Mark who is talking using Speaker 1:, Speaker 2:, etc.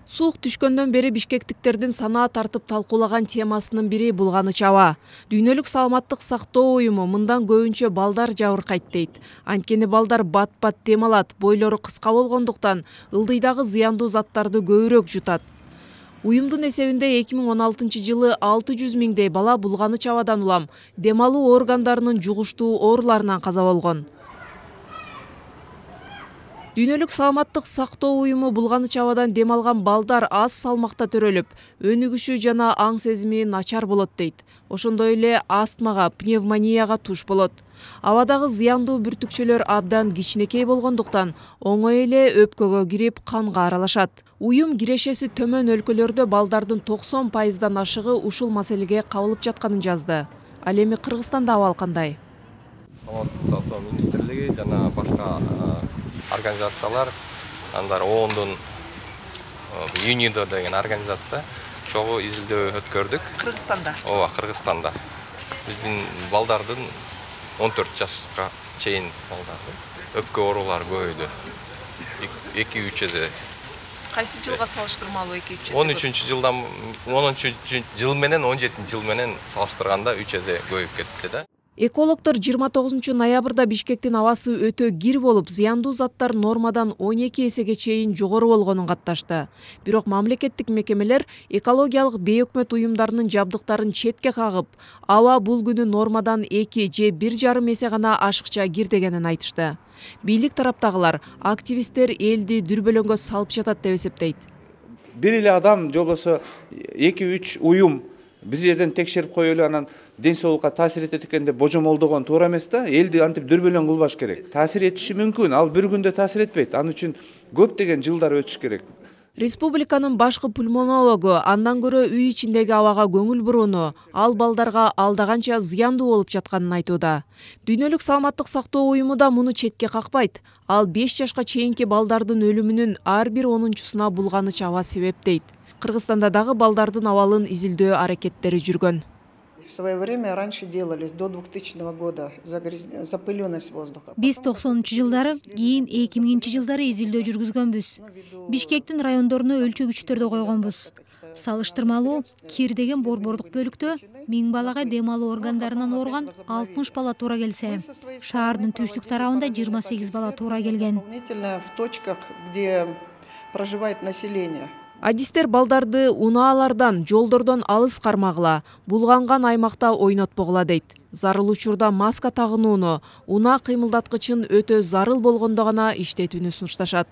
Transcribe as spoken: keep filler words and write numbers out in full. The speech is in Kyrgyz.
Speaker 1: Суық түшкөндөн бери бишкектиктердин санаа тартып талкуулаган темасынын бири булганыч аба. Дүйнөлүк саламаттык сактоо уюму мындан көбүнчө балдар жабыркайт дейт. Анткени балдар бат-бат дем алат, бойлору кыска болгондуктан ылдыйдагы зыяндуу заттарды көбүрөөк жутат. Уюмдун эсебинде эки миң он алтынчы жылы алты жүз миңдей бала булганыч абадан улам дем алуу органдарынын жугуштуу ооруларынан каза болгон. Дүйнөлүк саламаттык сактоо уюму булганыч абадан дем алган балдар аз салмакта төрөлүп, өнүгүшү жана аң сезими начар болот дейт. Ошондой эле астмага, пневмонияга туш болот. Абадагы зыяндуу бүртүкчөлөр абдан кичинекей болгондуктан оңой эле өпкөгө кирип канга аралашат. Уюм кирешеси төмөн өлкөлөрдө балдардын токсон пайыздан ашыгы ушул маселеге кабылып жатканын жазды. Ал эми Кыргызстанда абал кандай?
Speaker 2: Саламаттык сактоо министрлиги жана башка организациялар, андар оондун ЮНИДО деген организация чогуу изилдөө өткөрдүк.
Speaker 1: Кыргызстанда?
Speaker 2: Ооба, Кыргызстанда. Биздин балдардын он төрт жашка чейин балдардын өпкө оорулары көбөйдү. эки үч эсе.
Speaker 1: Кайсы жылга салыштырмалуу эки үч эсе?
Speaker 2: он үчүнчү жылдан он үчүнчү жыл менен он жетинчи жыл менен салыштырганда үч эсе көбөйүп кетти да.
Speaker 1: Экологдор жыйырма тогузунчу ноябрда Бишкектин абасы өтө кир болуп, зыяндуу заттар нормадан он эки эсеге чейин жогору болгонун катташты. Бирок мамлекеттик мекемелер экологиялык бейөкмөт уюмдарынын жабдыктарын четке кагып, аба бул күнү нормадан эки же бир жарым эсе гана ашыкча кир дегенин айтышты. Бийлик тараптагылар активисттер элди дүрбөлөңгө салып жатат деп эсептейт.
Speaker 3: Бир эле адам же болбосо эки үч уюм бир жерден текшерип коелу, анан ден соолукка таасир этет экен деп божомолдогон туура эмес да. Элди антип дүрбөлөң кылбаш керек. Таасир этиши мүмкүн, ал бир күндө таасир этпейт. Анын үчүн көптөгөн жылдар өтүш керек.
Speaker 1: Республиканын башкы пульмонологу андан көрө үй ичиндеги абага көңүл бурууну, ал балдарга алдаганча зыяндуу болуп жатканын айтууда. Дүйнөлүк саламаттык сактоо уюму да муну четке какпайт. Ал беш жашка чейинки балдардын өлүмүнүн ар бир онунчусуна булганыч аба себеп дейт. Кыргызстанда дагы балдардын абалын изилдөө аракеттери жүргөн.
Speaker 4: В свое время раньше делались до двухтысячного года запылённость воздуха.
Speaker 5: Биз токсонунчу жылдары, кийин эки миңинчи жылдары изилдөө жүргүзгөнбүз. Бишкектин райондоруна өлчөгүчтөрдү койгонбуз. Салыштырмалуу кир деген борбордук бөлүктө миң балага дем алуу органдарынан ооруган алтымыш бала туура келсе, шаардын түштүк тарабында жыйырма сегиз бала туура келген.
Speaker 4: В точках, где проживает население.
Speaker 1: Адистер балдарды унаалардан, жолдордон алыс кармагыла, булганган аймакта ойнотпогула дейт. Зарыл учурда маска тагынууну, унаа кыймылдаткычын өтө зарыл болгондо гана иштетүүнү сунушташат.